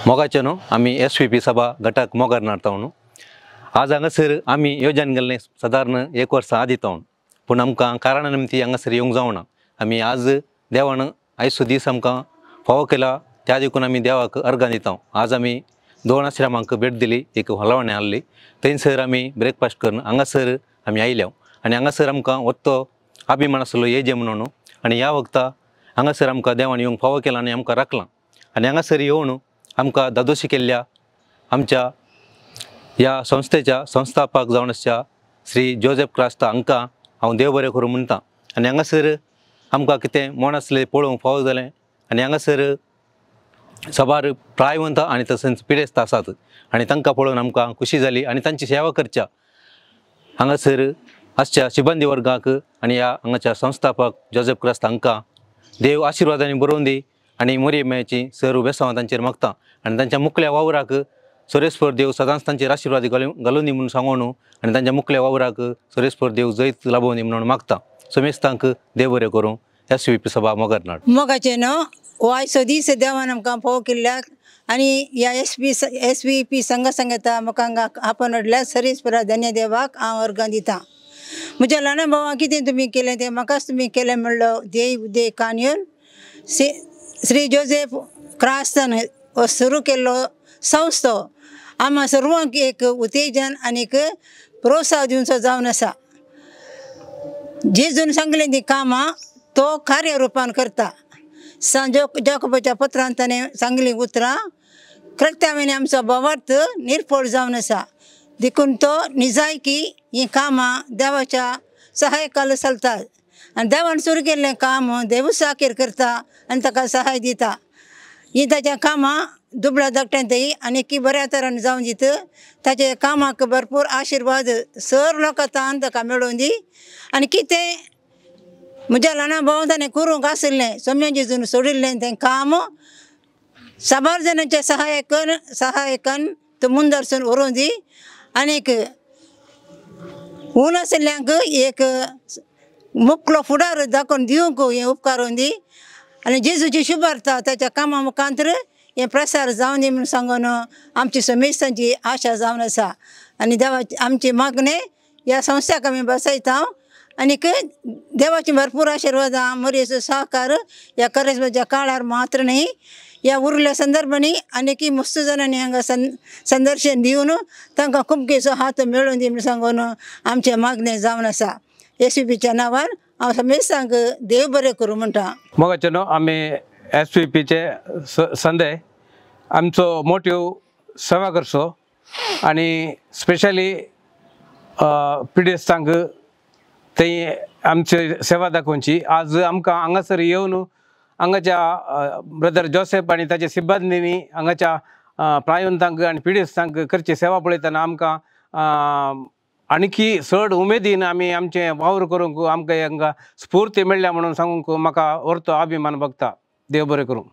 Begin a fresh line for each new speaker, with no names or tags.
मोगाचे न्हू आमी एस व्ही पी सभा घटक मोगार नाडता. आज हांगासर आमी योजन गेल्ले सादारण एक वर्सां आदी तावन, पूण आमकां कारणा निमती हांगासर येवंक जावना. आमी आज देवान आयचो दीस आमकां फावो केला त्या देखून आमी देवाक अर्गां दिता. आज आमी दोन आश्रमांक भेट दिली, एक हलवणें आहली, थंयसर आमी ब्रेकफास्ट करून हांगासर आमी आयल्या आनी हांगासर आमकां वत्तो अभिमान आसलो येजे म्हणून. आनी ह्या वखता हांगासर आमकां देवान येवंक फावो केला आनी आमकां राखलां आनी हांगासर येवन आमकां दादोशी केल्ल्या आमच्या ह्या संस्थेच्या संस्थापक जावन आसच्या श्री जोसेफ क्रास्ता हांकां हांव देव बरें करूं म्हणटा. आनी हांगासर आमकां कितें मोण आसलें पळोवंक फावो जालें आनी हांगासर साबार प्रायवंत आनी तशेंच पिडेस्त आसात आनी तांकां पळोवन आमकां खुशी जाली आनी तांची सेवा करच्या हांगासर आसच्या शिबंदी वर्गाक आनी ह्या हांगाच्या संस्थापक जोसेफ क्रास्ता हांकां देव आशिर्वादांनी बरोवन दी आनी मोरये मेळची सर बेसांव तांचेर मागता आनी तांच्या मुखल्या वावराक सोरेश्वर देव सदांच तांचेर आशिर्वाद घालून दी म्हणून सांगून आनी तांच्या मुखल्या वावराक सोरेश्वर देव जैत लाभोवन दी म्हणून मागता. समेस्तांक देव बरें करूं. एस व्ही पी सभा मोगरनाड.
मोगाचें न्हू हो आयचो दीस देवान आमकां फावो केल्ल्याक आनी ह्या एस व्ही पी संघा सांगता म्हाका हांगा आपण हाडल्यार सरेस्परा धन्य देवाक हांव अर्गां दिता. म्हज्या ल्हाना भावां कितें तुमी केलें तें म्हाकाच तुमी केलें म्हणलो देव उदय कानयून श्री जोसेफ क्रास्तान हो सुरू केल्लो संस्थो आमकां सर्वांक एक उत्तेजन आनीक प्रोत्साह दिवचो जावन आसा. जेजून सांगलें ती कामां तो कार्य रुपान करता. सांत जाकोबाच्या पत्रान ताणें सांगलीं उतरां कृत्यावेनी आमचो भावार्थ निर्फळ जावन आसा, देखून तो निजायकी हीं कामां देवाच्या सहायकाल चलतात आनी देवान सुरू केल्लें काम देवूच साखेर करता आनी ताका सहाय दिता. हीं ताच्या कामां दुबळ्या धाकट्यान आनी बऱ्या तरान जावन दित. ताच्या कामाक भरपूर आशिर्वाद सर लोकां तान ताका मेळोवन दी आनी कितें म्हज्या ल्हाना भावान ताणें करूंक आशिल्लें सोम्या जेजून सोडिल्लें तें काम साबार जाणांच्या सहायकान तो मुंदरसून व्हरून दी आनीक ऊन आशिल्ल्यांक एक मुकलो फुडार दाखोवन दिवंक हें उपकारून दी आनी जेजूची शुभार्था ताच्या कामा मुखांतर हें प्रसार जावन दी म्हणून सांगून आमची समेस्तांची आशा जावन आसा. आनी देवाची आमची मागणें ह्या संस्थाक आमी बसयता आनीक देवाची भरपूर आशिर्वादां मोरयेचो सहकार ह्या करेज्माच्या काळार मात्र न्ही ह्या उरल्या संदर्भांनी आनीक मस्त जाणांनी हांगा संदर्शन दिवन तांकां कुमकेचो हात मेळोवन दी म्हणून सांगून आमचें मागणें जावन आसा. एस व्ही पीच्या नांवान हांव समेस्तांक देव बरें करूं म्हणटा.
मोगाचे न्हू आमी एस व्ही पीचे संदे आमचो मोटिव सेवा करचो आनी स्पेशली पिडेस्तांक थंय आमची सेवा दाखोवची. आज आमकां हांगासर येवन हांगाच्या ब्रदर जोसेफ आनी ताच्या सिब्बंदींनी हांगाच्या प्रायवंतांक आनी पिडेस्तांक करची सेवा पळयतना आमकां आणखी चड उमेदीन आमी आमचें वावर करूंक आमकां हांगा स्फूर्ती मेळ्ळ्या म्हणून सांगूंक म्हाका व्हरतो अभिमान भोगता. देव बरें करूं.